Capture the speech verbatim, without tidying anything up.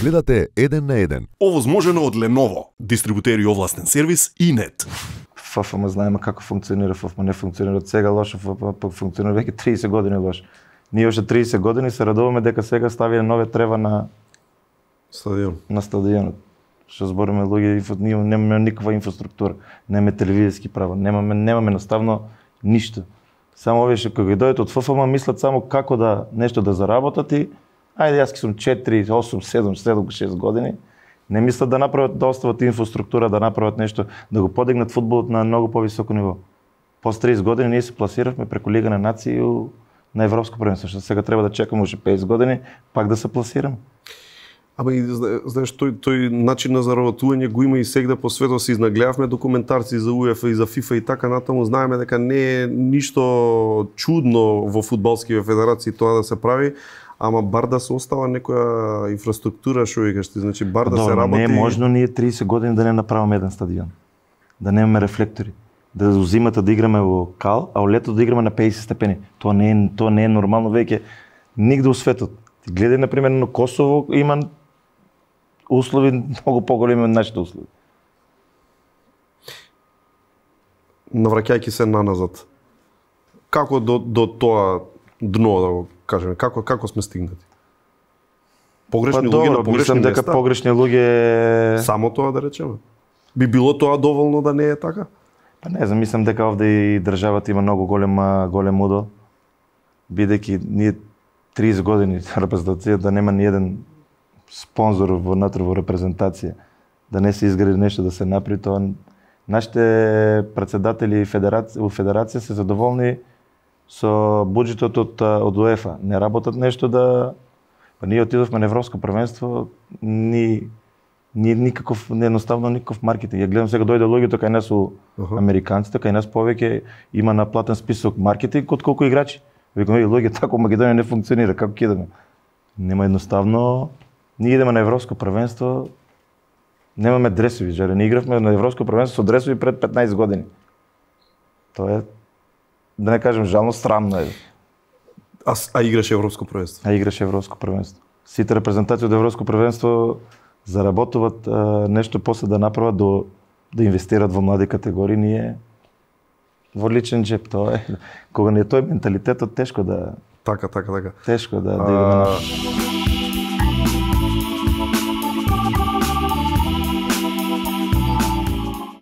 Гледате еден на еден. Овозможено од Lenovo, дистрибутери овластен сервис и нет. ФФМ знаеме како функционира, ФФМ не функционира од сега лошо, ФФМ функционира веќе триесет години лошо. Ние уште триесет години се радуваме дека сега ставија нове трева на стадион. На стадионот. Што збориме луѓе, ние немаме никаква инфраструктура, немаме телевизиски права, немаме немаме наставно ништо. Само овие што кога дојдат од ФФМ мислат само како да нешто да заработат и ајде јас ки сум четири, осум, седум, шест години. Не мислат да направат, да остават инфраструктура, да направат нешто, да го подигнат фудбалот на многу повисоко ниво. После триесет години ние се пласиравме преку Лига на нации на европско првенство, што сега треба да чекаме уште петдесет години пак да се пласираме. Ама и знаеш, тој, тој начин на заработување го има и сегда по светот, се изнагледавме документарци за УЕФА и за ФИФА и така натаму, знаеме дека не е ништо чудно во фудбалските федерации тоа да се прави, ама бар да се остава некоја инфраструктура, што викаш ти, значи бар да Добро, се работи. Не е можно ние триесет години да не направиме еден стадион. Да немаме рефлектори. Да зимата да играме во кал, а во лето да играме на петдесет степени. Тоа не е тоа не е нормално веќе нигде во светот. Ти гледај на пример на Косово има услови многу поголеми од нашите услови. Навраќајќи се наназад. Како до до тоа дно да го кажеме, како како сме стигнати? Погрешни па, луѓе добро, на погрешни мислам дека места? погрешни луѓе Само тоа да речеме. Би било тоа доволно да не е така? Па не знам, мислам дека овде и државата има многу голема голем удел, бидејќи ние триесет години репрезентација да нема ни еден спонзор внатре во репрезентација, да не се изгради нешто да се направи, тоа нашите претседатели федерација во федерација се задоволни со буџетот од од УЕФА. Не работат нешто да па ние отидовме на европско првенство, ни ни никаков едноставно никаков маркетинг. Ја гледам сега дојде луѓето кај нас у uh-huh. американците, кај нас повеќе има на платен список маркетинг од колку играчи. Викам, еј луѓе, тако Македонија не функционира, како ќе идеме? Нема едноставно. Ние идеме на европско првенство, немаме дресови, жаре не игравме на европско првенство со дресови пред петнаесет години. Тоа е, да не кажем жално, срамно е. А, а играше европско првенство? А играше европско првенство. Сите репрезентации од европско првенство заработуваат а, нешто после да направат до да инвестират во млади категории, ние во личен джеп, тоа е. Кога не е тој менталитетот, тешко да Така, така, така. Тешко да, да идеме на